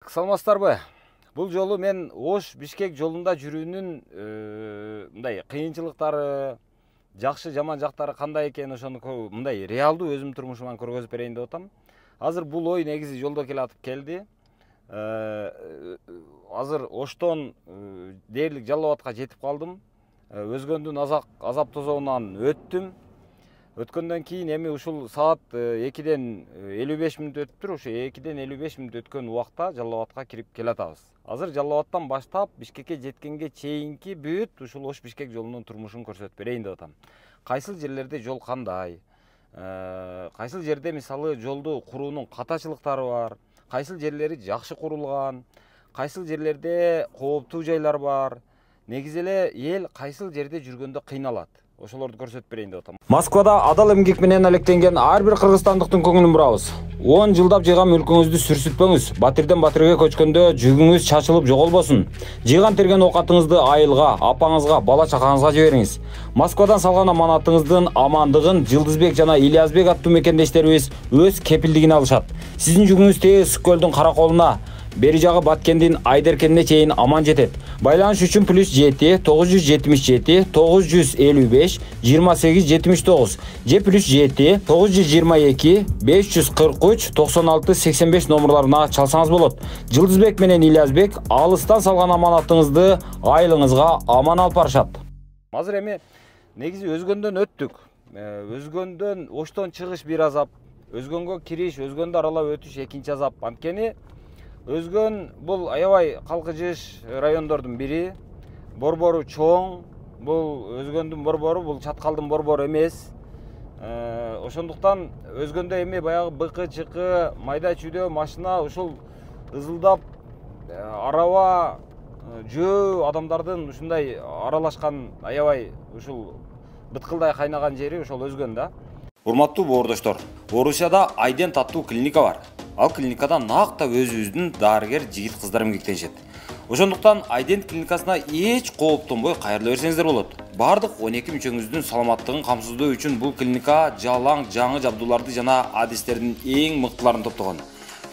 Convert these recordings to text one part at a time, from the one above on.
Саламатсыздарбы? Бул жолу мен Ош-Бишкек жолунда жүрүүнүн мындай кыйынчылыктары, жакшы жаман жактары кандай экени ошону мындай реалдуу өзүмдүн турмушуман көргөзүп берейин деп атам. Азыр бул ой негизи жолдо келатып келди. Азыр Оштон дээрлик Жалал Абадка жетип калдым. Өзгөндүн азап тозоонан өттүм. Өткөндөн кийин эми ушул саат 2-ден 55 мүнөт өттүр. Ошо 2-ден 55 мүнөт өткөн убакта Жалал Абадка кирип келатабыз. Азыр Жалал Абадтан баштап Бишкекке жеткенге чейинки бүт ушул Ош-Бишкек жолунун турмушун көрсөтүп берейин деп атам. Кайсыл жерлерде жол кандай? Кайсыл жерде мисалы жолду куруунун катачылыктары бар? Кайсыл жерлери жакшы курулган? Кайсыл жерлерде кооптуу жайлар бар? Негизи эле эл кайсыл жерде жүргөндө кыйналат? Ошолорду көрсөтүп берейин деп атам. Москвада адал эмгек менен алектенген ар бир кыргызстандыктын көңүлүн бурабыз. 10 жылдап жыйган мүлкүңүздү сүрсүтпөңүз. Батирден батирге көчкөндө жүгүңүз чачылып жоголбосун. Жыйган терген оокатыңызды айылга, апаңызга, бала чакаңызга жибериңиз. Москвадан салган аманатыңыздын амандыгын Жылдызбек жана Ильязбек аттуу мекендештерибиз өз кепилдигине алышат. Сиздин жүгүңүз тез Көлдүн Караколуна, бери жагы Баткендин Айдеркенине чейин аман жетет. Байланыш үчүн +7 977 955 2879 же +7 922 543 96 85 номерларына чалсаңыз болот. Жылдызбек менен Ильязбек алыстан салган аманатыңызды айылыңызга аман алып барышат. Азыр эми негизи Өзгөндөн өттүк. Өзгөндөн Оштон чыгыш бир азап, Өзгөнгө кириш, Өзгөндү аралап өтүш экинчи азап. Анткени Өзгөн бул аябай калкыжыш райондордун бири. Борбору чоң. Бул Өзгөндүн борбору, бул Чаткалдын борбору эмес. Ошондуктан Өзгөндө эми баягы быкы-чыкы, майда-чүйдө машина ушул ызылдап араба, жөө адамдардын ушундай аралашкан аябай ушул быткылдай кайнаган жери ошол Өзгөн да. Урматтуу боордоштор, Орусияда Айдент аттуу клиника бар. Ал клиникада накта өзүбүздүн дарыгер жигит кыздар эмгектенишет. Ошондуктан Айдент клиникасына эч кооптонбой кайрыла берсеңиздер болот. Бардык 12 мүчөңүздүн саламаттыгын камсыздоо үчүн бул клиника жалаң жаңы жабдууларды жана адистердин эң мыктыларын топтогон.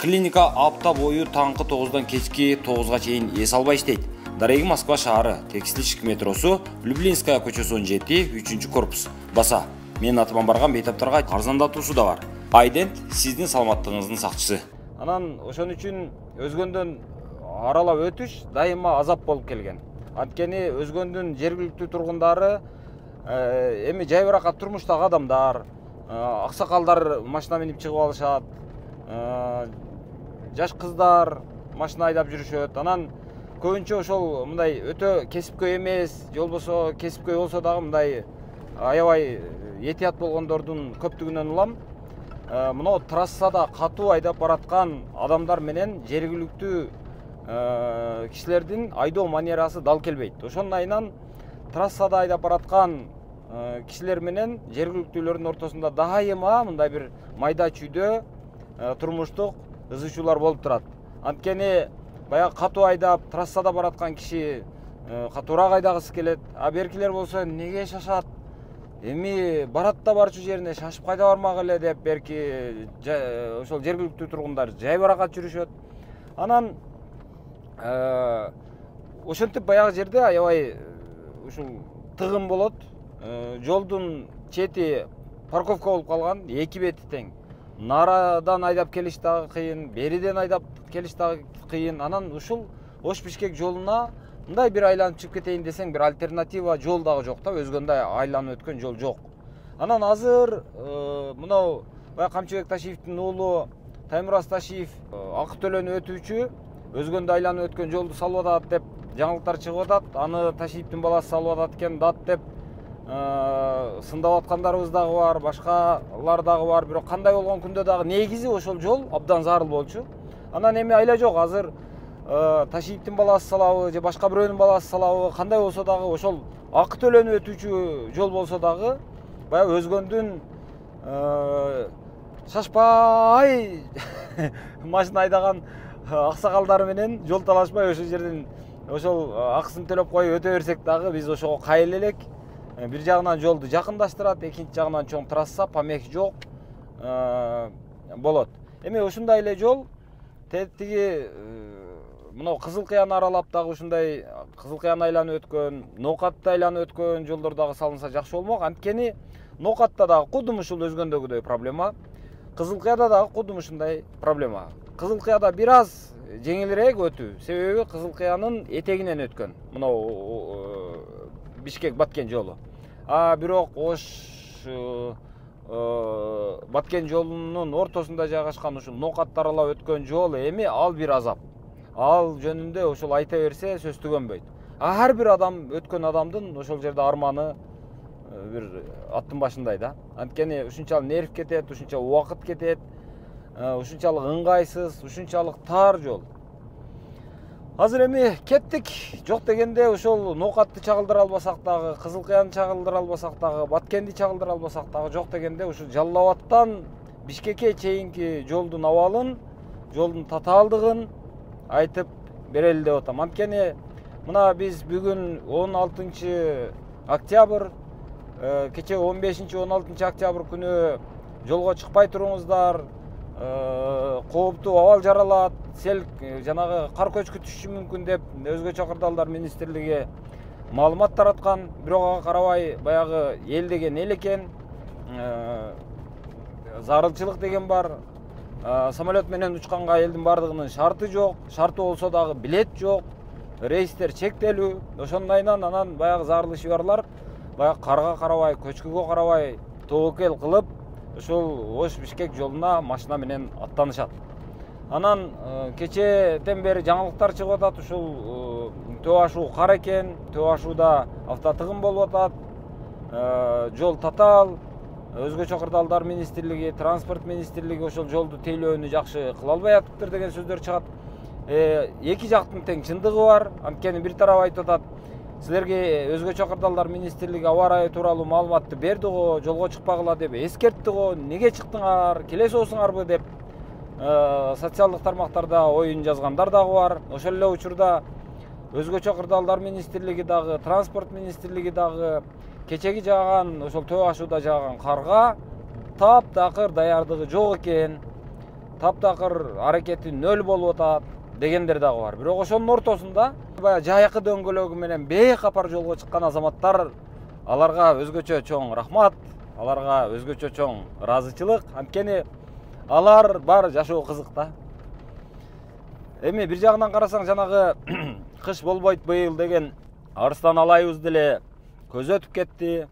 Клиника апта бою таңкы 9-дан кечки 9-га чейин эс албай иштейт. Дареги Москва шаары, Текстильщик метросу, Люблинская көчөсү 17, 3-корпус. Баса, менин атыман барган бейтаптарга арзандатуусу да бар. Айдент сиздин саламаттыгыңыздын сакчысы. Анан ошон үчүн Өзгөндөн аралап өтүш дайыма азап болуп келген. Анткени Өзгөндүн жергиликтүү тургундары эми жайбыракат турмуштагы адамдар, аксакалдар машина минип чыгып алышат, жаш кыздар машина айдап жүрүшөт. Анан көбүнчө ошол мындай өтө кесипкөй эмес, же болбосо кесипкөй болсо дагы мындай аябай этият болгондордун көптүгүнөн улам. Мына трассада катуу айдап бараткан адамдар менен жергиликтүү кишилердин айдоо манерасы дал келбейт. Ошонун айынан трассада айдап бараткан кишилер менен жергиликтүүлөрдүн ортосунда дайыма мындай бир майда чүйдө турмуштук ызычуулар болуп турат. Анткени баягы катуу айдап трассада бараткан киши катуураак айдагысы келет, а беркилер болсо неге шашат? Эми барат да барчу жерине шашып кайда бармак эле деп берки ошол жергиликтүү тургундар жайбаракат жүрүшөт. Анан ошентип баягы жерде аябай ушул тыгын болот. Жолдун чети парковка болуп калган, эки бети тең. Нарадан айдап келиш дагы кыйын, бериден айдап келиш дагы кыйын. Анан ушул Ош-Бишкек жолуна мындай бир айланып чыгып кетейин десең, бир альтернатива жол дагы жок да, Өзгөндө айланып өткөн жол жок. Анан азыр мынау Камчыбек Ташиевдин уулу Таймураз Ташиев акы төлөнүп өтүүчү Өзгөндө айланып өткөн жолду салып атат деп жаңылыктар чыгып атат. Аны Ташиевдин баласы салып атат экен дат деп сындап аткандарыбыз дагы бар, башкалар дагы бар. Бирок кандай болгон күндө дагы негизи ошол жол абдан зарыл болчу. Анан эми айла жок, азыр Ташиевдин баласы салабы же башка бирөөнүн баласы салабы, кандай болсо дагы ошол акы төлөнүп өтүүчү жол болсо дагы баягы Өзгөндүн шашпай машина айдаган аксакалдары менен жол талашпай ошол жерден ошол акысын төлөп коюп өтө берсек дагы биз ошого кайыл элек. Бир жагынан жолду жакындаштырат, экинчи жагынан чоң трасса, помех жок болот. Эми ушундай эле жол тиги мына Кызыл Кыяны аралап дагы ушундай Кызыл Кыяны айланып өткөн, Ноокатты айланып өткөн жолдор дагы салынса жакшы болмок. Анткени Ноокатта дагы кудум ушул өзгөндөгүдөй проблема, Кызыл Кыяда дагы кудум ушундай проблема. Кызыл Кыяда бир аз жеңилирээк өтүү, себеби Кызыл Кыянын этегинен өткөн. Мына Бишкек Баткен жолу. Бирок Ош Баткен жолунун ортосунда жайгашкан ушул Ноокатты аралап өткөн жол эми ал бир азап. Ал жөнүндө ошол айта берсе сөз түгөнбөйт. Ар бир адам өткөн адамдын ошол жерде арманы бир аттын башындай да. Анткени ушунчалык нерв кетет, ушунча убакыт кетет, ушунчалык ыңгайсыз, ушунчалык тар жол. Азыр эми кеттик. Жок дегенде ошол Ноокатты чагылдыра албасак дагы, Кызыл Кыяны чагылдыра албасак дагы, Баткенди чагылдыра албасак дагы, жок дегенде ушул Жалал Абадтан Бишкекке чейинки жолдун абалын, жолдун татаалдыгын айтып берели деп атам. Анткени мына биз бүгүн 16 октябрь, кече 15-16 октябрь күнү жолго чыкпай туруңуздар, кооптуу абал жаралат, сел жанагы кар көчкү түшүшү мүмкүн деп өзгөчө кырдаалдар министрлиги маалымат тараткан. Бирок ага карабай баягы эл деген эл экен, зарылчылык деген бар. Самолет менен учканга элдин бардыгынын шарты жок, шарты болсо дагы билет жок, рейстер чектелүү. Ошондайынан анан баягы зарыл ишибарлар баягы карга карабай, көчкүгө карабай тобокел кылып ушул Ош Бишкек жолуна машина менен аттанышат. Анан кечеден бери жаңылыктар чыгып атат, ушул Төө ашуу кар экен, Төө ашууда автотыгын болуп атат, жол татаал. Өзгөчө кырдаалдар министрлиги, транспорт министрлиги ошол жолду тейлөөнү жакшы кыла албай атыптыр деген сөздөр чыгат. Эки жактын тең чындыгы бар. Анткени бир тарап айтып атат, силерге өзгөчө кырдаалдар министрлиги аба ырайы тууралуу маалыматты берди го, жолго чыкпагыла деп эскертти го, неге чыктыңар, келе соосуңарбы деп социалдык тармактарда оюн жазгандар дагы бар. Ошол эле учурда өзгөчө кырдаалдар министрлиги дагы, транспорт министрлиги дагы кечеги жааган, ошол Төө ашууда жааган карга таптакыр даярдыгы жок экен, таптакыр аракети нөл болуп атат дегендер дагы бар. Бирок ошонун ортосунда баягы жайкы дөңгөлөгү менен бейкапар жолго чыккан азаматтар, аларга өзгөчө чоң рахмат, аларга өзгөчө чоң ыраазычылык. Анткени алар бар жашоо кызык да. Эми бир жагынан карасаң, жанагы кыш болбойт быйыл деген арыстан алайыбыз деле көз өтүп кетти.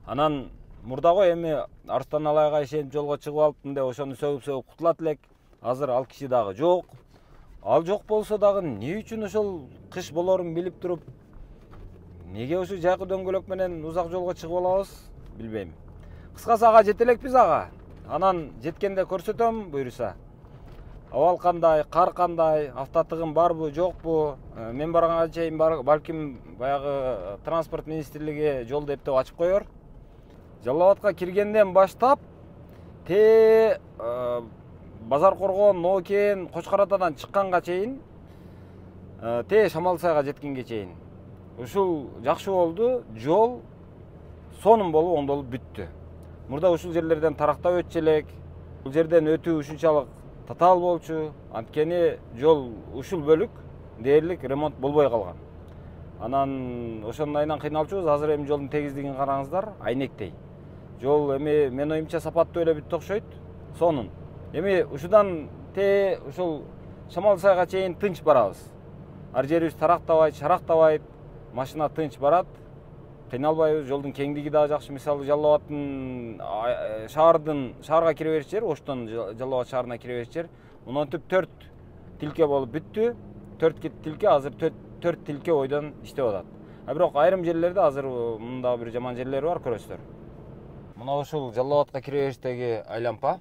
Анан мурдагы эми арыстан алайга ишенип жолго чыгып алыптым деп ошону сөгүп кутулат элек. Азыр ал киши дагы жок. Ал жок болсо дагы эмне үчүн ошол кыш болорун билип туруп, неге ошо жайкы дөңгөлөк менен узак жолго чыгып алабыз, билбейм. Кыскасы ага жете элекпиз ага. Анан жеткенде көрсөтөм буюрса. Абал кандай, кар кандай, автотыгым барбы, жокпу? Мен барганга чейин балким баягы транспорт министрлиги жолду эптеп ачып коёр. Жалал Абадка киргенден баштап Базар Коргон, Ноокен, Кочкор Атадан чыкканга чейин, Шамал Сайга жеткенге чейин ушул жакшы болду. Жол сонун болуп, оңдолуп бүттү. Мурда ушул жерлерден тарактап өтчү элек. Бул жерден өтүү ушунчалык татаал болчу. Анткени жол ушул бөлүк дээрлик ремонт болбой калган. Анан ошондайынан кыйналчубуз. Азыр эми жолдун тегиздигин караңыздар, айнектей. Жол эми мен оюмча сапаттуу эле бүттү окшойт. Сонун. Эми ушудан ушул Шамал Сайга чейин тынч барабыз. Ар жерибиз тарактабайт, шарактабайт, машина тынч барат. Кыйналбайбыз. Жолдун кеңдиги дагы жакшы. Мисалы Жалал Абадтын шаарга кире бериш жер, Оштон Жалал Абад шаарына кире бериш жер монтип 4 тилке болуп бүттү. 4 тилке, азыр 4 тилке ойдон иштеп атат. Бирок айрым жерлерде азыр мында бир жаман жерлери бар, көрөсүздөр. Мына ушул Жалал Абадка кире бериштеги айлампа.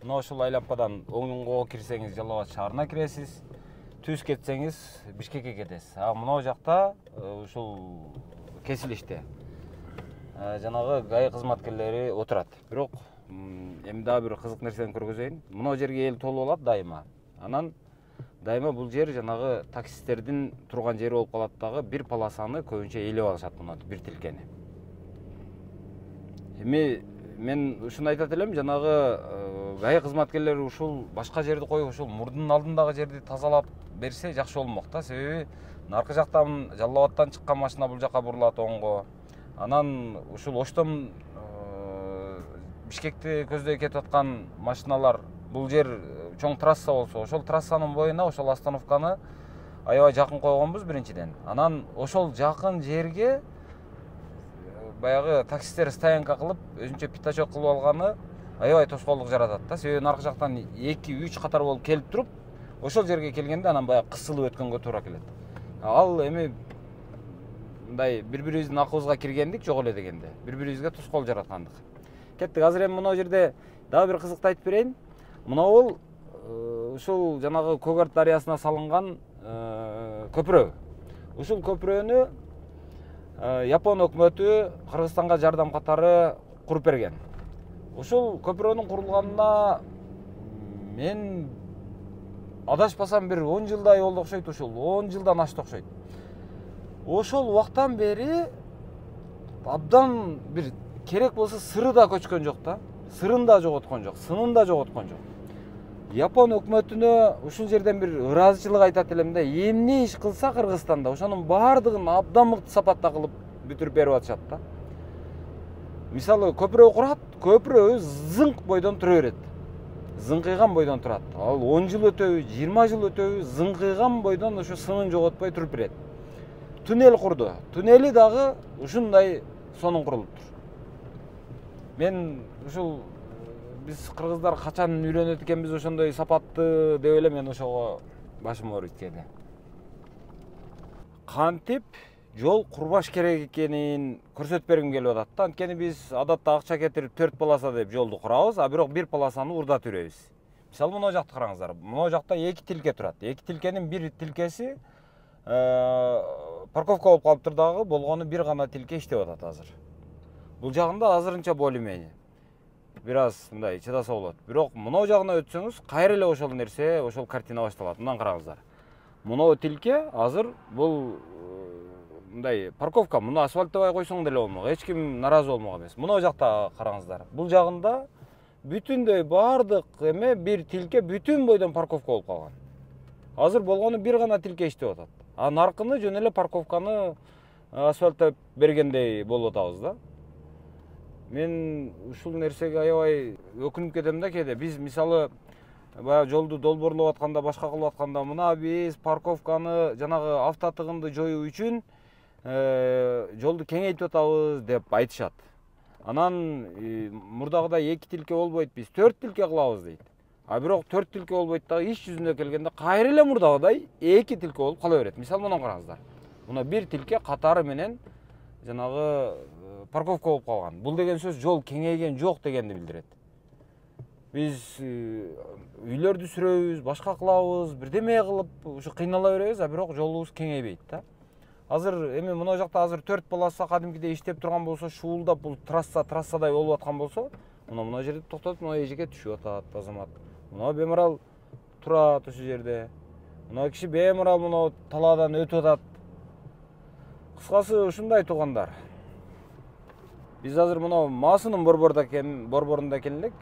Мына ушул айлампадан оңго кирсеңиз Жалал Абад шаарына киресиз. Түз кетсеңиз Бишкекке кетесиз. Мына жакта ушул кесилиште жанагы ГАИ кызматкерлери отурат. Бирок эми дагы бир кызык нерсени көргөзөйүн. Мына жерге эл толуп алат дайыма. Анан дайыма бул жер жанагы таксисттердин турган жери болуп калат дагы, бир полосаны көбүнчө ээлеп алышат мына бир тилкени. Эми мен ушуну айтат элем, жанагы ГАИ кызматкерлери ушул башка жерди коюп, ушул мурдун алдындагы жерди тазалап берсе жакшы болмок да. Себеби наркы жактан Жалал Абадтан чыккан машина бул жака бурулат оңго. Анан ушул Оштон Бишкекти көздөй кетип аткан машиналар, бул жер чоң трасса болсо, ошол трассанын боюна ошол остановканы аябай жакын койгонбуз биринчиден. Анан ошол жакын жерге баягы таксисттер стоянка кылып, өзүнчө пятачок кылып алганы аябай тоскоолдук жаратат да. Себеби наркы жактан 2-3 катар болуп келип туруп, ошол жерге келгенде анан баягы кысылып өткөнгө туура келет. Ал эми мындай бири-бирибиздин акыбызга киргендик жок эле дегенде, бири-бирибизге тоскоол жараткандык. Кеттик. Азыр эми мына жерде дагы бир кызыктуу айтып берейин. Мынабул ушул жанагы Көк Арт дарыясына салынган көпүрө. Ушул көпүрөнү Япон өкмөтү Кыргызстанга жардам катары куруп берген. Ушул көпүрөнүн курулганына мен адашпасам бир 10 жылдай болду окшойт, ушул 10 жылдан ашты окшойт. Ошол убактан бери абдан бир керек болсо сыры да көчкөн жок да. Сырын да жоготкон жок, сынын да жоготкон жок. Япон өкмөтүнө ушул жерден бир ыраазычылык айтат элем да. Эмне иш кылса Кыргызстанда ошонун баардыгын абдан мыкты сапатта кылып бүтүрүп берип атышат да. Мисалы көпүрө курат, көпүрө зыңк бойдон тура берет. Зыңкыйган бойдон турат. Ал 10 жыл өтөбү, 20 жыл өтөбү зыңкыйган бойдон ошо сынын жоготпой туруп берет. Туннель курду. Туннели дагы ушундай сонун курулуптур. Мен ушул биз кыргыздар качан үйрөнөт экенбиз ошондой сапатты деп эле мен ошого башым ооруйт кээде. Кантип жол курбаш керек экенин көрсөтүп бергим келип атат да. Анткени биз адатта акча кетирип 4 полоса деп жолду курабыз, а бирок 1 полосаны урдатып жүрөбүз. Мисалы мына жакты караңыздар. Мына жакта 2 тилке турат. 2 тилкенин бир тилкеси парковка болуп калыптыр дагы, болгону бир гана тилке иштеп атат азыр. Бул жагында азырынча более-менее бир аз мындай чыдаса болот. Бирок мына жагына өтсөңүз, кайра эле ошол нерсе, ошол картина башталат. Мындан караңыздар. Мына тилке азыр бул мындай парковка, муну асфальттабай койсоң деле болмок. Эч ким наразы болмок эмес. Мына жакта караңыздар. Бул жагында бүтүндөй баардык эме бир тилке бүтүн бойдон парковка болуп калган. Азыр болгону бир гана тилке иштеп атат. А наркыны жөн эле парковканы асфальттап бергендей болуп атабыз да. Мен ушул нерсеге аябай өкүнүп кетем да кээде. Биз мисалы баягы жолду долбоорлоп атканда, башка кылып атканда, мына биз парковканы жанагы автотыгынды жоюу үчүн жолду кеңейтип атабыз деп айтышат. Анан мурдагыдай 2 тилке болбойт, биз 4 тилке кылабыз дейт. А бирок 4 тилке болбойт дагы, иш жүзүнө келгенде кайра эле мурдагыдай 2 тилке болуп кала берет. Мисалы мына караңыздар. Мына бир тилке катары менен жанагы парковка болуп калган. Бул деген сөз жол кеңейген жок дегенди билдирет. Биз үйлөрдү сүрөбүз, башка кылабыз, бирдеме кылып ушу кыйнала беребиз, а бирок жолубуз кеңейбейт да. Азыр эми мына жакта азыр 4 полоса кадимкидей иштеп турган болсо, шуулдап бул трассадай болуп аткан болсо, мына жерде токтотуп, мына эжеке түшүп атат азамат. Мына беморал турат ошол жерде. Мына киши беморал мына талаадан өтүп атат. Кыскасы ушундай туугандар. Биз азыр мына Маасынын борборунда экен элек,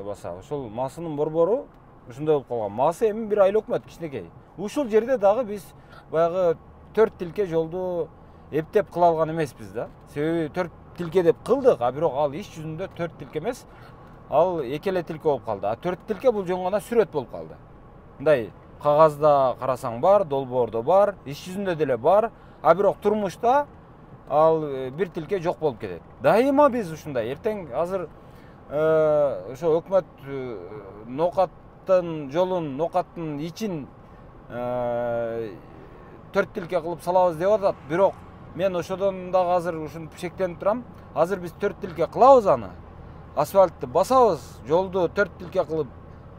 баса. Ошол Маасынын борбору ушундай болуп калган. Маасы эми бир айыл өкмөт кичинекей. Ушул жерде дагы биз баягы 4 тилке жолду эптеп кыла алган эмеспиз да. Себеби 4 тилке деп кылдык, а бирок ал иш жүзүндө 4 тилке эмес, ал 2 эле тилке болуп калды. А 4 тилке бул жөн гана сүрөт болуп калды. Мындай кагазда карасаң бар, долбоордо бар, иш жүзүндө деле бар, а бирок турмушта ал бир тилке жок болуп кетет. Дайыма биз ушундай. Эртең азыр ошо өкмөт ноокаттын жолун, ноокаттын ичин 4 тилке кылып салабыз деп атат. Бирок мен ошодон дагы азыр ушинтип шектенип турам. Азыр биз 4 тилке кылабыз аны. Асфальтты басабыз, жолду 4 тилке кылып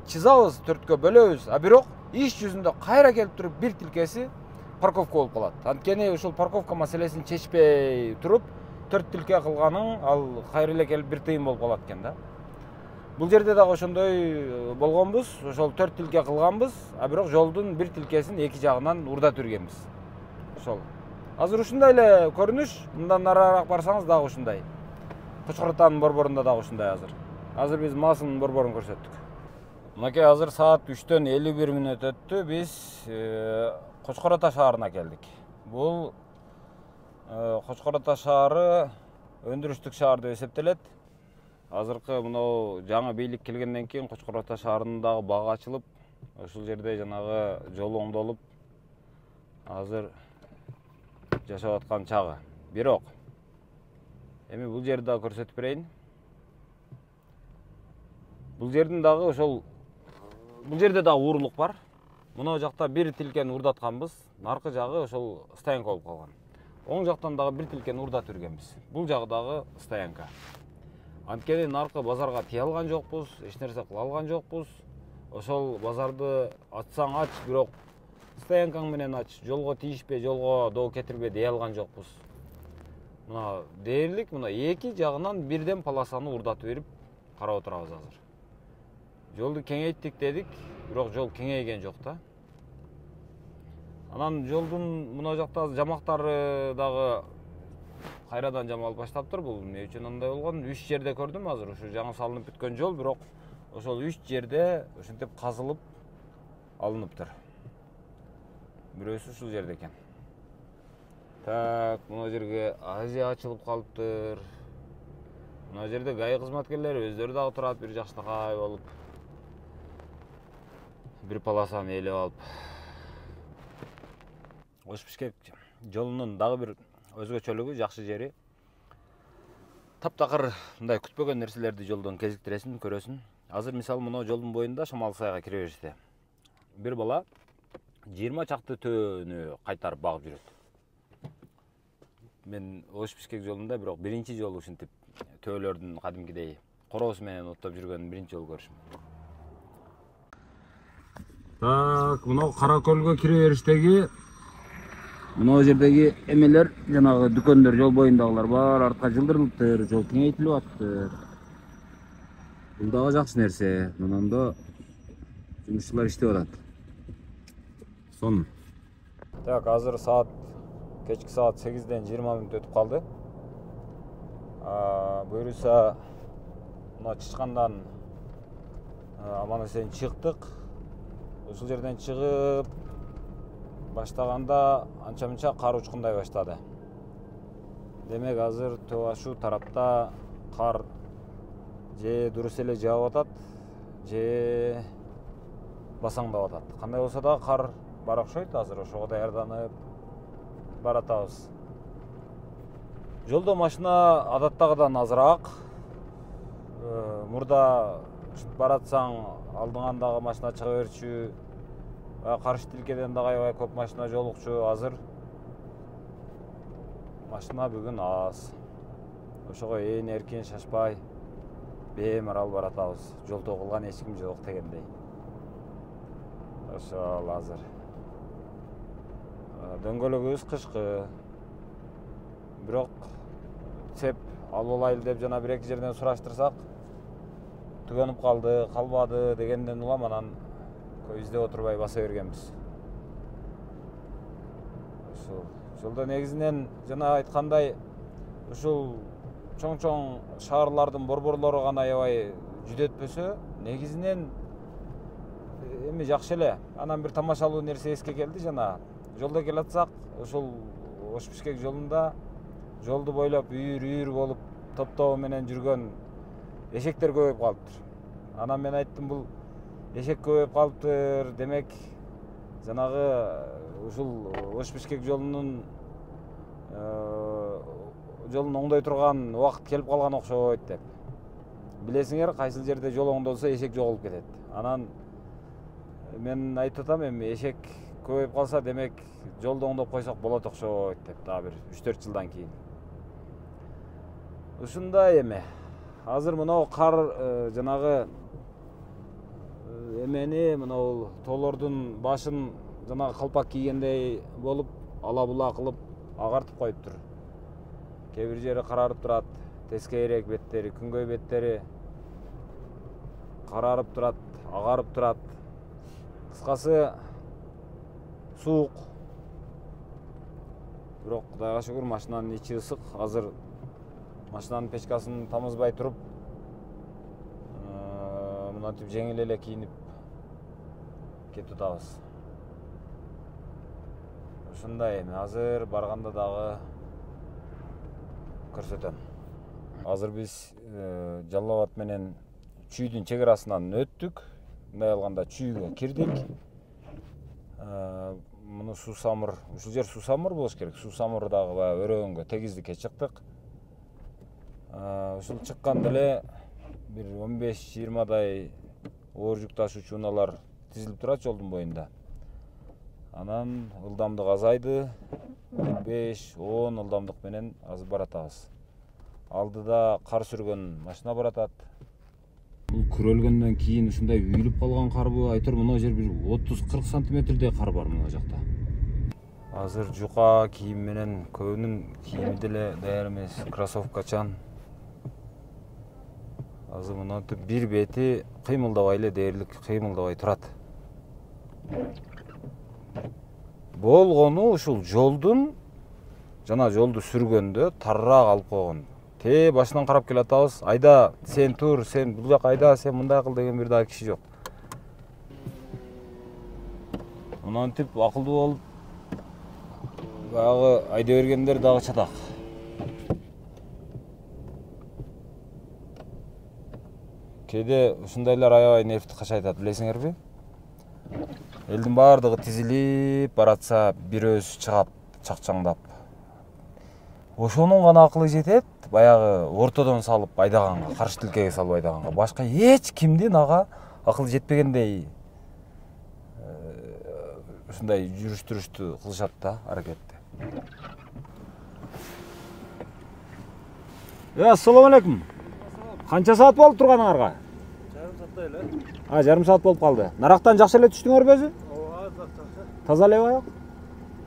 чызабыз, 4кө бөлөбүз. А бирок иш жүзүндө кайра келип туруп бир тилкеси парковка болуп калат. Анткени ушул парковка маселесин чечпей туруп 4 тилке кылганың ал кайра эле келип бир тыйын болуп калат экен да. Бул жерде дагы ошондой болгонбуз, ошол 4 тилке кылганбыз, а бирок жолдун бир тилкесин эки жагынан урдатып жүргөнбүз. Ошол. Азыр ушундай эле көрүнүш, мындан нарыраак барсаңыз дагы ушундай. Кочкор Атанын борборунда дагы ушундай азыр биз Масынын борборун көрсөттүк. Мынакей азыр саат 3-төн 51 мүнөт өттү. Биз Кочкор Ата шаарына келдик. Бул Кочкор Ата шаары өндүрүштүк шаар деп эсептелет. Азыркы мынау жаңы бийлик келгенден кийин Кочкор Ата шаарындагы бага ачылып, ушул жерде жанагы жол оңдолуп, азыр жашап аткан чагы. Бирок эми бул жерди дагы көрсөтүп берейин. Бул жердин дагы бул жерде дагы уурулук бар. Мына жакта бир тилкени урдатканбыз, наркы жагы ошол стоянка болуп калган. Оң жактан дагы бир тилкени урдатып жүргөнбүз. Бул жагы дагы стоянка. Анткени наркы базарга тие алган жокпуз, эч нерсе кыла алган жокпуз. Ошол базарды ачсаң ач, бирок стоянкаң менен ач, жолго тийишпе, жолго доо кетирбе дей алган жокпуз. Мына дээрлик мына эки жагынан бирден полосаны урдатып берип карап отурабыз азыр. Жолду кеңейттик дедик, бирок жол кеңейген жок да. Анан жолдун мына жакта жамактары дагы кайрадан жамалып баштаптыр. Бул эмне үчүн андай болгон? 3 жерде көрдүм азыр. Ушу жаңы салынып бүткөн жол, бирок ошол 3 жерде ушинтип казылып алыныптыр. Бирөөсү ушул жерде экен. Так, мына жерге Азия ачылып калыптыр. Мына жерде ГАИ кызматкерлери өздөрү дагы турат, бир жакшынакай болуп. Бир полосаны ээлеп алып. Ош-Бишкек жолунун дагы бир өзгөчөлүгү, жакшы жери. Таптакыр мындай күтпөгөн нерселерди жолдон кезиктиресиң, көрөсүң. Азыр мисалы мына жолдун боюнда Шамал сайга кире бериште бир бала 20 чакты төөнү кайтарып багып жүрөт. Мен Ош-Бишкек жолунда бирок биринчи жолу ушинтип төөлөрдүн кадимкидей короосу менен оттоп жүргөнүн биринчи жолу көрүшүм. Так, мына Каракөлгө кире бериштеги мына жердеги эмелер, жанагы дүкөндөр, жол боюндагылар бар, артка жылдырылыптыр, жол кеңейтилип аткыр. Бул дагы жакшы нерсе. Мынанда жумушчулар иштеп атат. Сон. Так, азыр кечки саат 8-ден 20 мүнөт өтүп калды. Буюрса мына Чычкандан аман-эсен чыктык. Ушул жерден чыгып баштаганда анча-мынча кар учкундай баштады. Демек азыр ошол тарапта кар же дурус эле жаап атат, же басаңдап атат. Кандай болсо да кар бар окшойт, азыр ошого даярданып баратабыз. Жолдо машина адаттагыдан азыраак. Мурда баратсаң алдыңан дагы машина чыга берчү, каршы тилкеден дагы аябай көп машина жолукчу. Азыр машина бүгүн аз. Ошого эркин шашпай беймарал баратабыз. Жолдо кылган эч ким жок дегендей. Ошол азыр дөңгөлөгүбүз кышкы. Бирок цеп алып алайлы деп жана бир-эки жерден сураштырсак, түгөнүп калды, калбады дегенден улам анан издеп отурбай баса бергенбиз. Ушул жолдо негизинен жана айткандай ушул чоң-чоң шаарлардын борборлору гана аябай жүдөтпөсө, негизинен эми жакшы эле. Анан бир тамашалуу нерсе эске келди. Жана жолдо келатсак, ушул Ош-Бишкек жолунда жолду бойлоп үйүр болуп топтоо менен жүргөн эшектер көбөйүп калыптыр. Анан мен айттым, бул эшек көбөйүп калыптыр, демек жанагы ушул Ош-Бишкек жолун оңдой турган убакыт келип калган окшойт деп. Билесиңер, кайсыл жерде жол оңдолсо эшек жоголуп кетет. Анан мен айтып атам, эми эшек көбөйүп калса, демек жолду оңдоп койсок болот окшойт деп, дагы бир 3-4 жылдан кийин. Ушундай эме. Азыр мынау кар жанагы эмени, мынау тоолордун башын жанагы калпак кийгендей болуп, ала-була кылып агартып коюптур. Кээ бир жери карарып турат, тескейирээк беттери, күнгөй беттери карарып турат, агарып турат. Кыскасы суук. Бирок Кудайга шүгүр, машинанын ичи ысык. Азыр машинанын печкасын тамызбай туруп мынантип жеңил эле кийинип кетип атабыз. Ушундай эми азыр барганда дагы көрсөтөм. Азыр биз Жалал Абад менен Чүйдүн чек арасынан өттүк. Мындай алганда Чүйгө кирдик. Муну Суусамыр, ушул жер Суусамыр болуш керек. Суусамыр дагы баягы өрөөнгө тегиздикке чыктык. Ушул чыкканда эле бир 15-20дай оор жүк ташуучу унаалар тизилип турат жолдун боюнда. Анан ылдамдык азайды, 5-10 ылдамдык менен азыр баратабыз. Алдыда кар сүргөн машина баратат. Бул күрөлгөндөн кийин ушундай үйүлүп калган карбы, айтор мына жер бир 30-40 сантиметрдей кар бар мына жакта. Азыр жука кийим менен көбүнүн кийими деле даяр эмес, кроссовкачан. Азыр мынантип бир бети кыймылдабай эле дээрлик кыймылдабай турат. Болгону ушул жолдун жана жолду сүргөндө тарыраак алып койгон. Те башынан карап келатабыз. Айда сен тур, сен бул жака айда, сен мындай кыл деген бир дагы киши жок. Мынантип акылдуу болуп баягы айда бергендер дагы чатак. Кээде ушундайлар аябай нефти качайтат, билесиңерби? Элдин баардыгы тизилип баратса, бирөөсү чыгат чакчаңдап. Ошонун гана акылы жетет, баягы ортодон салып айдаганга, каршы тилкеге салып айдаганга. Башка эч кимдин ага акылы жетпегендей ушундай жүрүш-түрүштү кылышат да, аракетти. Ассаламу алейкум. Канча саат болуп турганыңарга? Жарым сааттай эле. Жарым саат болуп калды. Нарактан жакшы эле түштүңөрбү өзү? Ооба, жакшы. Таза элеби аяк?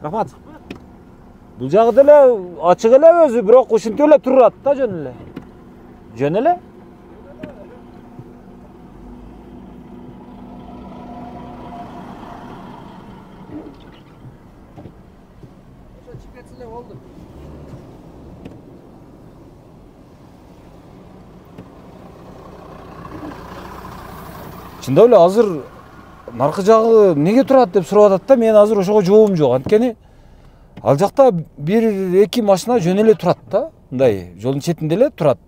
Рахмат. Бул жагы деле ачык эле өзү, бирок ушинтип эле турат да жөн эле. Жөн эле? Ошо чыгып кетсе эле болду. Чындап эле азыр наркы жагы неге турат деп сурап атат да, мен азыр ошого жообум жок. Анткени ал жакта бир-эки машина жөн эле турат да, мындай жолдун четинде эле турат.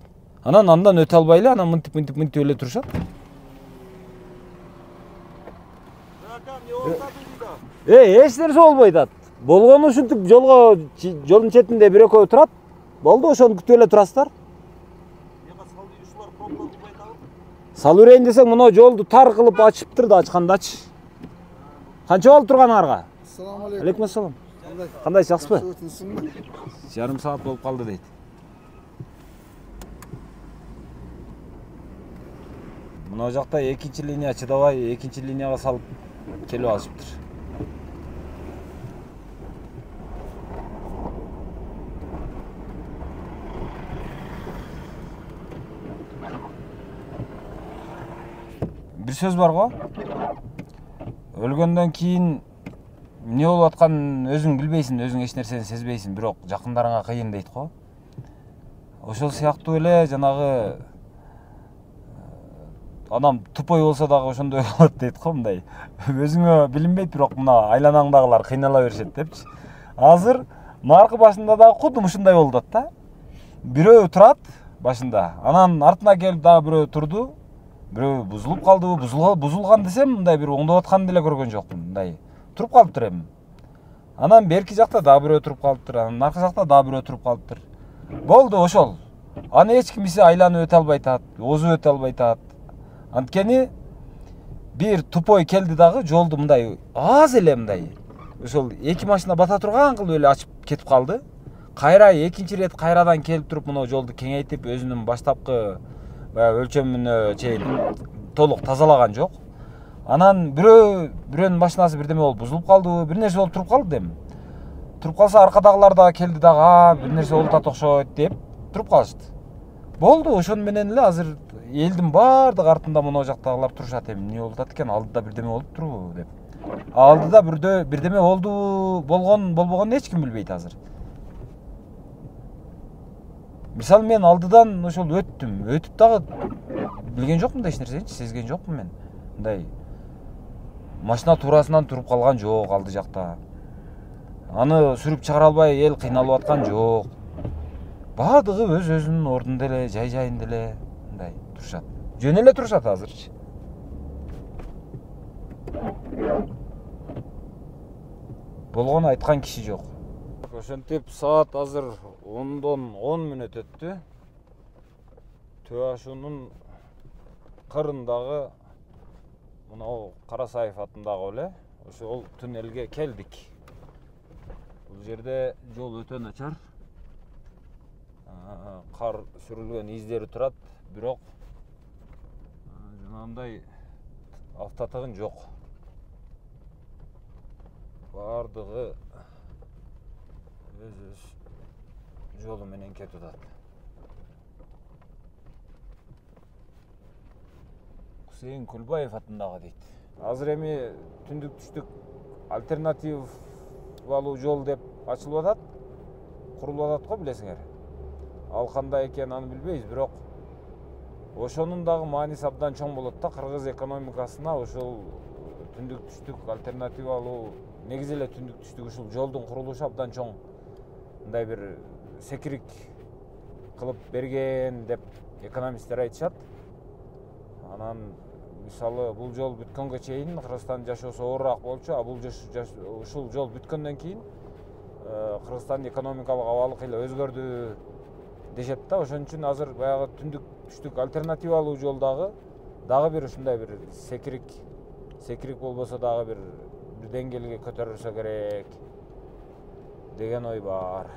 Андан өтө албай эле, анан мынтип эле турушат. Эч нерсе болбойт ат. Болгону ушинтип жолдун четинде бир-экөө турат. Болду, ошону күтүп эле турасыздар. Сал берейин десең, мына жолду тар кылып ачыптыр да, ачкандачы. Канча болуп турганыңарга? Ассаламу алейкум. Алейкум ассалам. Кандай, жакшысызбы? Жакшысызбы? Жарым саат болуп калды дейт. Мына жакта экинчи линия чыдабай, экинчи линияга салып келип алышыптыр. Бир сөз бар го. Өлгөндөн кийин эмне болуп атканын өзүң билбейсиң, өзүң эч нерсени сезбейсиң, бирок жакындарыңа кыйын дейт го. Ошол сыяктуу эле жанагы адам тупой болсо дагы ошондой болот дейт го, мындай. Өзүңө билинбейт, бирок мына айланаңдагылар кыйнала беришет депчи. Азыр наркы башында дагы кудум ушундай болуп атат да. Бирөө турат башында, анан артына келип дагы бирөө турду. Бирөө бузулуп калдыбы, бузулган десем, мындай бир оңдоп атканын деле көргөн жокмун, мындай. Туруп калыптыр эми. Анан берки жакта дагы бирөө туруп калыптыр, анан наркы жакта дагы бирөө туруп калыптыр. Болду ошол. Аны эч кимиси айланып өтө албай атат, озуп өтө албай атат. Анткени бир тупой келди дагы жолду мындай аз эле мындай. Ошол эки машина бата турган кылып эле ачып кетип калды. Кайра экинчи ирет кайрадан келип туруп мына жолду кеңейтип өзүнүн баштапкы өлчөмүнө чейин толук тазалаган жок. Анан бирөөнүн машинасы бирдеме болуп бузулуп калдыбы, бир нерсе болуп туруп калды эми. Туруп калса аркадагылар дагы келди дагы, бир нерсе болуп атат окшойт деп туруп калышты. Болду, ошону менен эле азыр элдин баардык артында мына жактагылар турушат эми. Эмне болуп атат экен, алдыда бирдеме болуп турбу деп. Алдыда бирдеме болду, болбогонун эч ким билбейт азыр. мисалы мен алдыдан ошол өтүп дагы билген жокмун да эч нерсечи, сезген жокмун мен. Мындай машина туурасынан туруп калган жок алды жакта. Аны сүрүп чыгара албай эл кыйналып аткан жок. Баардыгы өзүнүн ордунда эле, жай-жайында эле мындай турушат. Жөн эле турушат азырчы. Болгону айткан киши жок. Ошентип саат азыр 10-дон 10 мүнөт өттү. Төө ашуунун кырындагы мынау Карасаев атындагы эле ошол туннелге келдик. Бул жерде жол өтө начар. Кар сүрүлгөн издери турат, бирок жанагындай автотыгын жок. Бардыгы өз жолу менен кетип атат. Кусейин Кулбаев атындагы дейт. Азыр эми түндүк түштүк альтернативалуу жол деп ачылып атат. Курулуп атат го, билесиңер. Ал кандай экенин аны билбейбиз, бирок ошонун дагы мааниси абдан чоң болот да. Кыргыз экономикасына ошол түндүк түштүк альтернативалуу, негизи эле түндүк түштүк ушул жолдун курулушу абдан чоң мындай бир секирик кылып берген деп экономисттер айтышат. Анан мисалы бул жол бүткөнгө чейин Кыргызстандын жашоосу оорураак болчу, а бул ушул жол бүткөндөн кийин Кыргызстандын экономикалык абалы кыйла өзгөрдү дешет да. Ошон үчүн азыр баягы түндүк түштүк альтернативалуу жол дагы бир ушундай бир секирик болбосо дагы бир деңгээлге көтөрүлсө керек деген ой бар.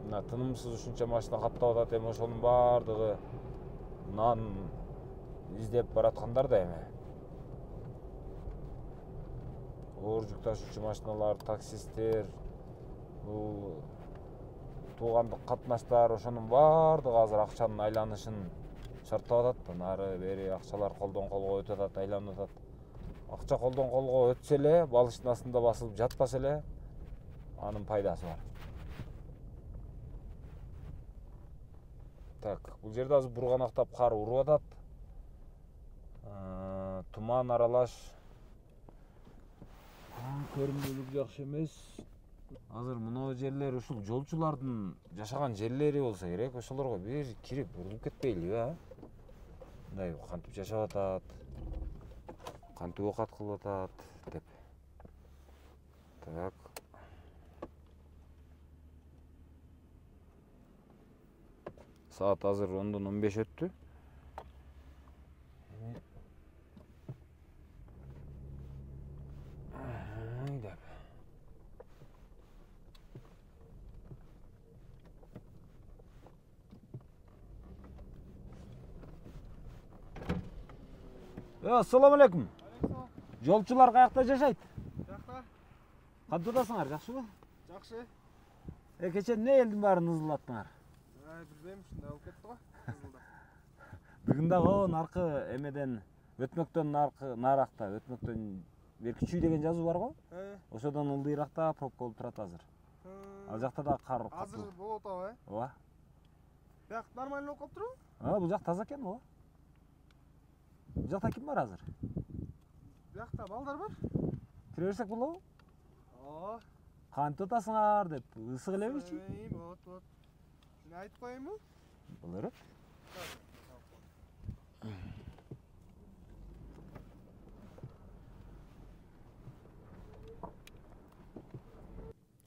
Мына тынымсыз ушунча машина каттап атат, эми ошонун баардыгы нан издеп бараткандар да эми. Оор жүк ташуучу машиналар, таксисттер, бул туугандык катнаштар, ошонун баардыгы азыр акчанын айланышын шарттап атат. Нары бери акчалар колдон колго өтүп атат, айланып атат. Акча колдон колго өтсө эле, балыштын астында басылып жатпаса эле, анын пайдасы бар. Так, бул жерде азыр бурганактап кар уруп атат. Туман аралаш. Көрүнүлүк жакшы эмес. Азыр мына жерлер ушул жолчулардын жашаган жерлери болсо керек, ошолорго бир кирип урулуп кетпейлиби, а? Мындай кантип жашап атат, кантип оокат кылып атат деп. Так. Саат азыр 10-дон 15 өттү. Ассаламу алейкум. Жолчулар каякта жашайт? Жакта. Кантип атасыңар, жакшыбы? Жакшы. Кечээ эмне элдин баарын ызылдаттыңар? Билбейм, ушундай болуп кетти го. Бүгүн дагы наркы эмеден өтмөктөн наракта, өтмөктөн Беркичүй деген жазуу бар го? Ошодон ылдыйракта пробка болуп турат азыр. Ал жакта да кар катуу. Азыр болуп атабы? Ооба. Бияк нормально болуп калыптырбы? Бул жак таза экен, ооба. Бул жакта ким бар азыр? Биякта балдар бар. Кире берсек болобу? Ооба. Кантип атасыңар деп ысык элебичи? Болот. Мен айтып коеюнбу? Болор.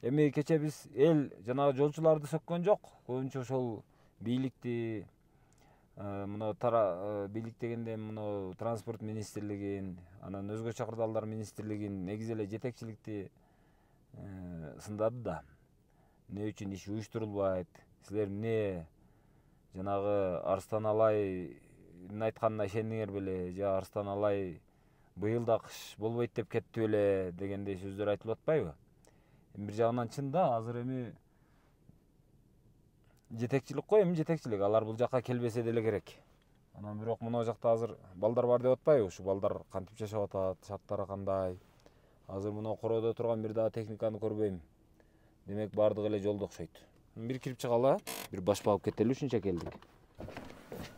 Эми кечээ биз эл жанагы жолчуларды сөккөн жок. Көбүнчө ошол бийликти мына бийлик дегенде мына транспорт министрлигин, анан өзгө чакырдалдар министрлигин, негизи эле жетекчиликти сындады да. Эмне үчүн иш уюштурулбайт? Силер эмне жанагы Арстан Алайдын айтканына ишендиңер беле? Же Арстан Алай быйыл да кыш болбойт деп кетти беле дегендей сөздөр айтылып атпайбы? Бир жагынан чын да, азыр эми жетекчилик го, эми жетекчилик. Алар бул жакка келбесе деле керек. Анан бирок мына жакта азыр балдар бар деп атпайбы? Ушу балдар кантип жашап атат, шарттары кандай? Азыр мына короодо турган бир дагы техниканы көрбөйм. Демек бардыгы эле жолдо окшойт. Бир кирип чыгалы, бир баш багып кетели ушунча келдик.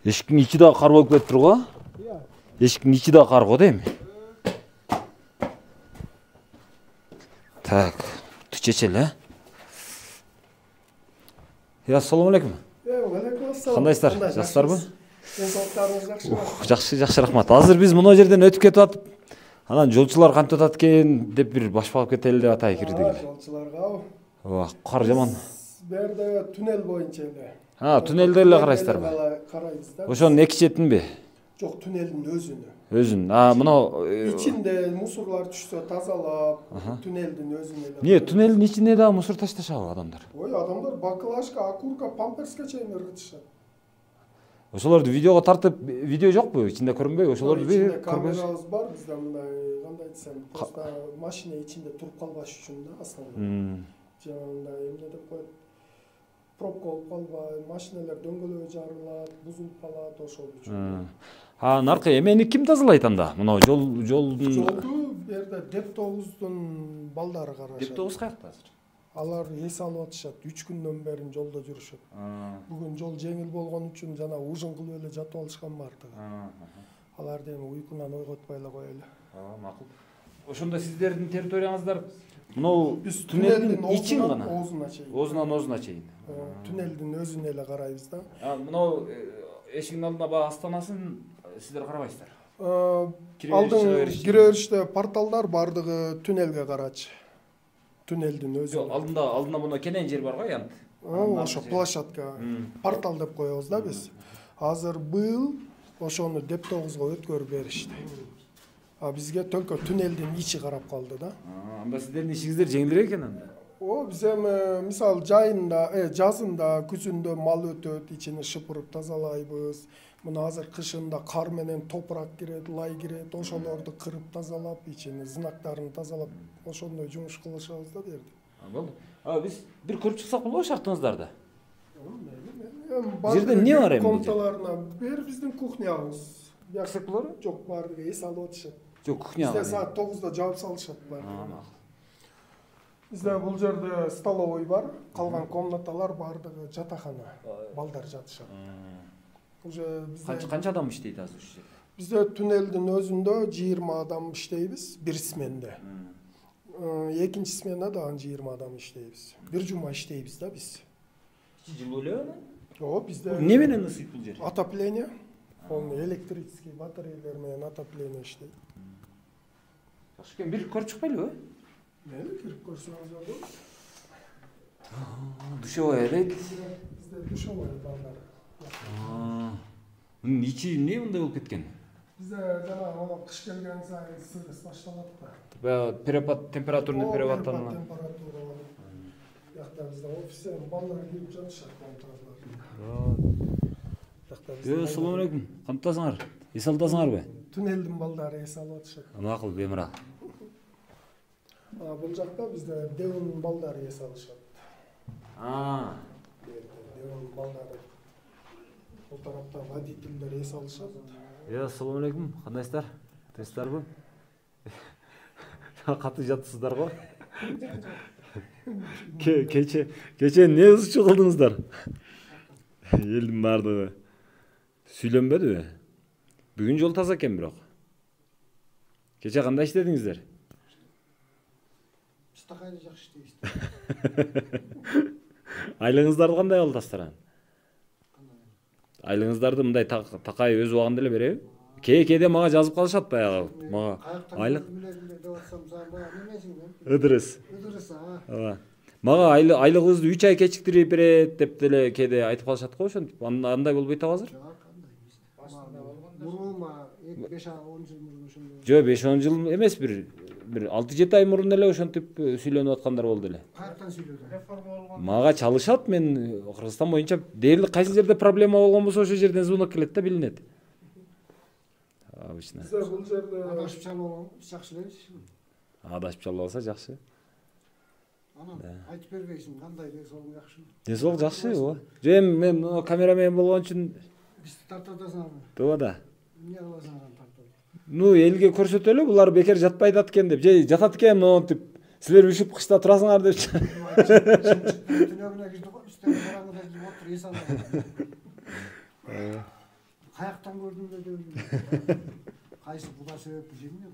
Эшиктин ичи да кар болуп кетиптир го. Iya. Эшиктин ичи да кар го дейм. Так, чечели, Assalomu alaykum. Алейкум ассалам. Кандайсыздар? Жакшысыздарбы? Денсаулыктарыңыз жакшыбы? Жакшы, рахмат. Азыр биз мына жерден өтүп кетип атып, анан жолчулар кантип атат экен деп бир баш багып кетели деп атайын кирдик. Жолчуларга. Ооба, кар жаман. Берде туннел боюнча эле. Туннелде эле карайсыздарбы? Карайбыз да. Ошонун эки четинби? Жок, туннелдин өзүнү. Өзүн. Мына Ичинде мусорлар түшсө тазалап, туннелдин өзүнө эле. эмне, туннелдин ичине да мусор ташташабы адамдар? Ой, адамдар баклажка, окурка, памперска чейин ыргытышат. Ошолорду видеого тартып, видео жокпу? Ичинде көрүнбөйбү? Ошолорду бир Ичинде камерабыз бар, бизде мындай, кандай десем, просто машина ичинде туруп калбаш үчүн да основной. Жанагындай эмне деп коет? Пробка болуп калбай, машиналар дөңгөлөй жарылат, бузулуп калат, ошол үчүн. Наркы эмени ким тазалайт анда? Мына жолдун Жолду берде Деп-9дун балдары карашат. Деп-9 каякта азыр? Алар эс алып атышат. 3 күндөн бери жолдо жүрүшөт. Бүгүн жол жеңил болгон үчүн жана ужин кылып эле жатып алышкан бардыгы. Аларды эми уйкунан ойготпой эле коелу. Макул. Ошондо сиздердин территорияңыздар мынау туннелдин ичин гана? Оозунан чейин. Туннелдин өзүнө эле карайбыз да. Мынау эшиктин алдына баягы астанасын сиздер карабайсыздар? Алдын кире бериште порталдар бардыгы туннелге карачы. Туннелдин өзү. Алдында мына кенен жер бар го, янт. Ошо площадка. Портал деп коебуз да биз. Азыр быйыл ошону Деп-9го өткөрүп беришти. Бизге только туннелдин ичи карап калды да. Анда сиздердин ишиңиздер жеңилирээк экен анда. Биз эми мисалы жазында, күзүндө мал өтөт, ичини шыпырып тазалайбыз. Мына азыр кышында кар менен топурак кирет, лай кирет, ошолорду кырып тазалап, ичини знактарын тазалап, ошондой жумуш кылышабыз да берди. Болду. Биз бир көрүп чыксак болобу шахтаңыздарды? Жерде эмне бар эми? Комнаталарына бер биздин кухнябыз. Баксак болору? Жок, бардыгы эс алып атышат. Жок, кухня. Бизде саат 9да жаап салышат бардыгы. Бизде бул жерде столовый бар, калган комнаталар бардыгы жатакана. Балдар жатышат. Уже бизде Канча адам иштейт азыр ушул жерде? Бизде туннелдин өзүндө 20 адам иштейбиз бир сменде. Экинчи сменада 20 адам иштейбиз. Бир жума иштейбиз да биз. Жылуу элеби? Бизде эмне менен ысыйт бул жер? Отопление. Электрический батареялар менен отопление иштейт. Жакшы экен, бир көрүп чыкпайлыбы? Мени кирип көрсөңүз болот. Душевой элек. Бизде душевой балдар. Ичи эмне мындай болуп кеткен? Бизде жана кыш келген сайын сырыс башталат да. Баягы температурный переваттан. Температура. Жакта бизде офисте балдар кирип жатышат комнаталарга. Assalomu alaykum. Кантасыңар? Эс аласыңарбы? Туннелдин балдары эс алып атышат. Макул, бемара. Бул жакта бизде Девон балдары эс алышат. Девон балдары. Бул тарапта водительдер эс алышат. Assalomu alaykum. Кандайсыздар? Тесттарбы? Каты жатсыздар го? Кече эмне ызчы кылдыңыздар? Элдин бардыгы сүйлөнбөдүбү? Бүгүн жол таза экен бирок. Кече кандай иштедиңиздер? Стакайда жакшы иштейбиз. Айлыгыңыздарды кандай аласыздар? Айлыгыңыздарды мындай такай өз убагында эле береби? Кээде мага жазып калышат баягы. Мага айлык Ыдырыс. Ооба. Мага айлыгыбызды 3 ай кечиктирип берет деп деле кээде айтып калышат го, ошентип. Андай болбойт азыр? Жок, 5-10 жыл эмес, бир 6-7 ай мурун эле ошентип сүйлөнүп аткандар болду эле. Каяктан сүйлөдү? Мага чалышат, мен Кыргызстан боюнча дээрлик кайсы жерде проблема болгон болсо ошол жерден звонок келет да, билинет. Обычно. Бул жерде адашып чалып жакшы эле. Адашып чалып алса жакшы. Анан айтып бербейсиң, кандай десоң жакшы. Десоң жакшы, ооба. Жөн мен камерамен болгон үчүн бизди тартатасыңарбы? Тууба да. Эмне кыласыңар тартып? Элге көрсөтөлү, булар бекер жатпайт экен деп, же жатат экен монтип Силер үшүп кышта турасыңар депчи. Түнөгүнө кирди го, үстүнө караңгыда кирип отур, эс албай. Каяктан көрдүм деп. Кайсы Куда себепти жеңби?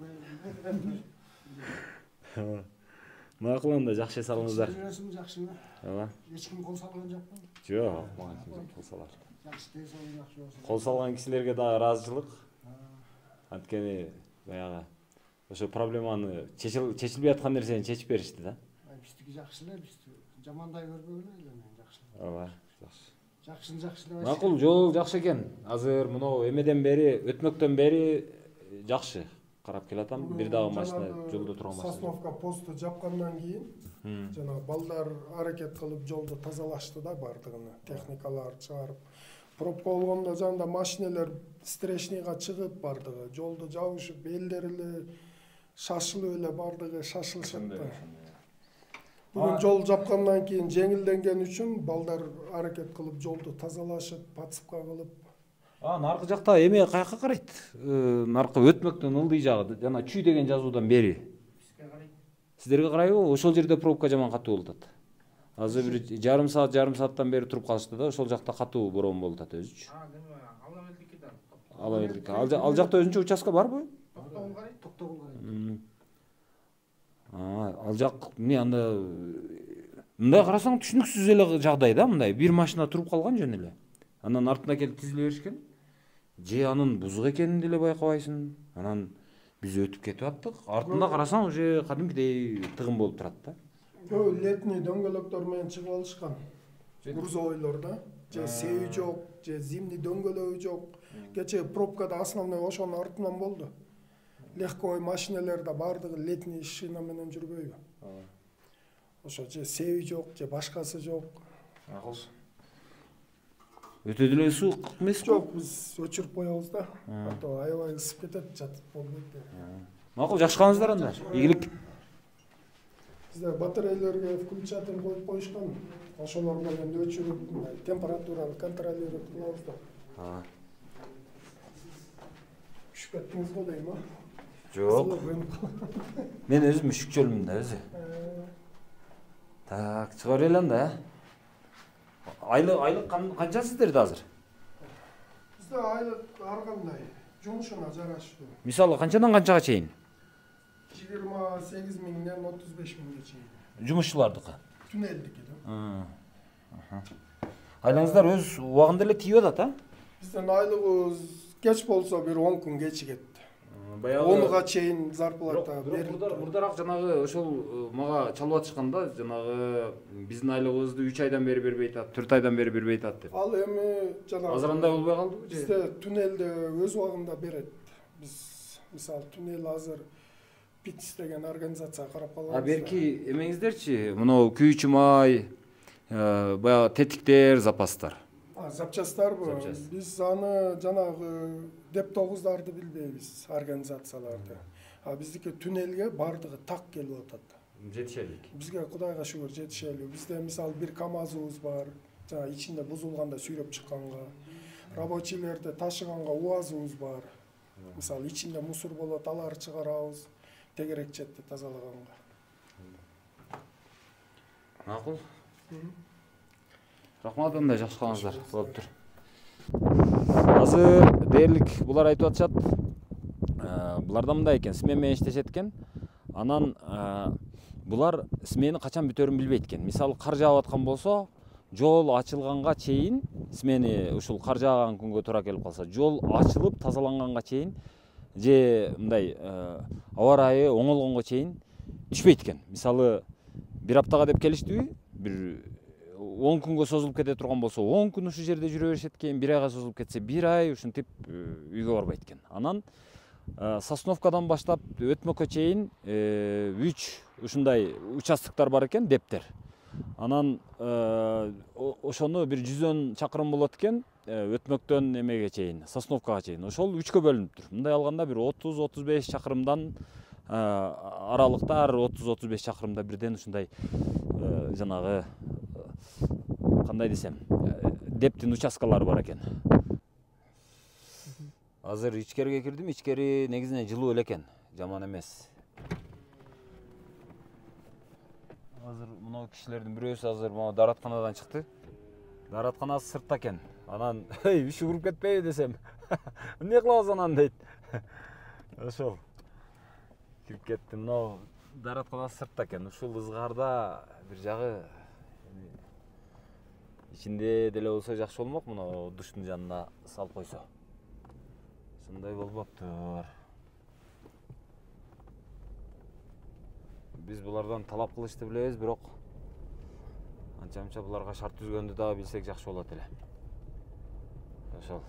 Макул анда жакшы эс алыңыздар. Жүрөсүң жакшымы? Ооба. Эч ким кол салган жокпу? Жок, мага ким кол салар. Жакшы тез алып жакшы болсун. Кол салган кишилерге дагы ыраазычылык. Анткени баягы ошо проблеманы чечилбей аткан нерсени чечип беришти да. Биздики жакшы эле, биз жамандай көрбөгүлө эле, жакшы. Ооба, жакшы. Жакшыны жакшы деп. Макул, жол жакшы экен. Азыр мынау эмеден бери, өтмөктөн бери жакшы карап келатам. Бир дагы машина жолдо турган машина. Сосновка посту жапкандан кийин жана балдар аракет кылып жолду тазалашты да бардыгын, техникалар чыгарып. Пробка болгондо жанында машиналар встречныйга чыгып бардыгы, жолду жабышып, элдер эле шашылып эле бардыгы шашылышат да. Бүгүн жол жапкандан кийин жеңилденген үчүн балдар аракет кылып жолду тазалашып, подсыпка кылып. Наркы жакта эме каяка карайт? Наркы өтмөктөн ылдый жагы жана чүй деген жазуудан бери. Бизге карайт. Сиздерге карайбы? Ошол жерде пробка жаман катуу болуп атат. Азыр бир жарым сааттан бери туруп калышты да, ошол жакта катуу борон болуп атат өзүчү. Алла элдики да. Алла элдики. Ал жакта өзүнчө участка барбы? Токтогул карайт, токтогул карайт. Ал жак эмне анда мындай карасаң түшүнүксүз эле жагдай да, мындай бир машина туруп калган жөн эле. Анан артына келип тизиле беришкен. Же анын бузук экенин деле байкабайсың. Анан биз өтүп кетип аттык. Артында карасаң уже кадимкидей тыгын болуп турат да. Летний дөңгөлөктөр менен чыгып алышкан. Грузовойлор да. Же севи жок, же зимний дөңгөлөгү жок. Кечээ пробкада основной ошонун артынан болду. Легковой машиналар да бардыгы летний шина менен жүрбөйбү. Ошо же севи жок, же башкасы жок. Өтө деле суук эмеспи? Жок, биз өчүрүп коебуз да. А то аябай ысып кетет, жатып болбойт. Макул, жакшы калыңыздар анда. Ийгилик. Бизде батарейлерге включатель коюп коюшкан. Ошолор менен өчүрүп, температураны контролировать кылабыз да. Үшүп кеттиңиз го дейм, а? Жок. Мен өзүм үшүкчөлмүн да өзү. Так, чыга берели анда. Айлык канча сиздерде азыр? Бизде айлык ар кандай, жумушуна жараштуу. Мисалы канчадан канчага чейин? 28 миңден 35 миңге чейин. Жумушчулардыкы. Түнелдики да. Айлаңыздар өз убагында эле тийип атат, а? Биздин айлыгыбыз кеч болсо бир 10 күн кечигет. Баягы 10га чейин зарплата берилет. Мурдараак жанагы ошол мага чалып атышканда, жанагы биздин айлыгыбызды 3 айдан бери бербей атат, 4 айдан бери бербей атат деп. Ал эми жанагы Азыр андай болбой калдыбы же? Бизде түнелде өз убагында берет. Биз мисалы түнел азыр ПИТС деген организацияга карап калганбыз. Берки эмеңиздерчи, мынау күйүүчү май, баягы тетиктер, запастар. Запчастарбы? Биз аны жанагы деп-тогуздарды билбейбиз, организацияларды. Биздики түнелге бардыгы так келип атат. Жетишелик. Бизге Кудайга шүгүр жетишели. Бизде мисалы бир КАМАЗыбыз бар. Жана ичинде бузулганда сүйрөп чыкканга. Рабочийлерди ташыганга УАЗыбыз бар. Мисалы ичинде мусор болот, аларды чыгарабыз. Тегерек четти тазалаганга. Макул. Рахмат, андай жакшы калыңыздар. Болуптур. Азыр дээрлик булар айтып атышат. Буларда мындай экен, смена менен иштешет экен. Анан булар смени качан бүтөрүн билбейт экен. Мисалы кар жаап аткан болсо, жол ачылганга чейин, смени ушул кар жааган күнгө туура келип калса, жол ачылып тазаланганга чейин же мындай аба ырайы оңолгонго чейин түшпөйт экен. Мисалы бир аптага деп келиштиби? Бир 10 күнгө созулуп кете турган болсо, 10 күн ушул жерде жүрө беришет экен, 1 айга созулуп кетсе, 1 ай ушинтип үйгө барбайт экен. Анан Сосновкадан баштап өтмөккө чейин 3 ушундай участоктор бар экен, дептер. Анан ошону бир 100 чакырым болот экен, өтмөктөн эмеге чейин, Сосновкага чейин. Ошол 3кө бөлүнүптүр. Мындай алганда бир 30-35 чакырымдан аралыкта, ар 30-35 чакырымда бирден ушундай жанагы кандай десем, дептин участкалары бар экен. Азыр ичкериге кирдим, ичкери негизинен жылуу эле экен, жаман эмес. азыр мына кишилердин бирөөсү азыр могу дааратканадан чыкты. Дааратканасы сыртта экен. Анан эй уши уруп кетпейби десем. Эмне кылабыз анан дейт. Ошол. Кирип кетти. Мына дааратканасы сыртта экен. Ушул ызгаарда бир жагы ичинде деле болсо жакшы болмок. Мына душтун жанына салып койсо. Ушундай болбоптур. Биз булардан талап кылышты билебиз, бирок анча-мынча буларга шарт түзгөндү дагы билсек жакшы болот эле. Ошол.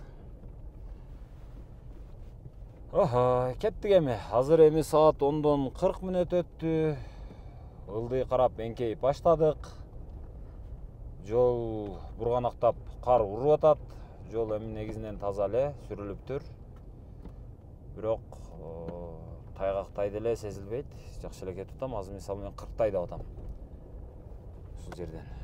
Охо, кеттик эми. Азыр эми саат 10дон 40 мүнөт өттү. Ылдый карап эңкейип баштадык. Жол бурганактап кар уруп атат. Жол эми негизинен таза эле сүрүлүптүр. Бирок тайгактай деле сезилбейт. Жакшы эле кетип атам. Азыр мисалы мен 40 тайдап атам. Ушул жерден.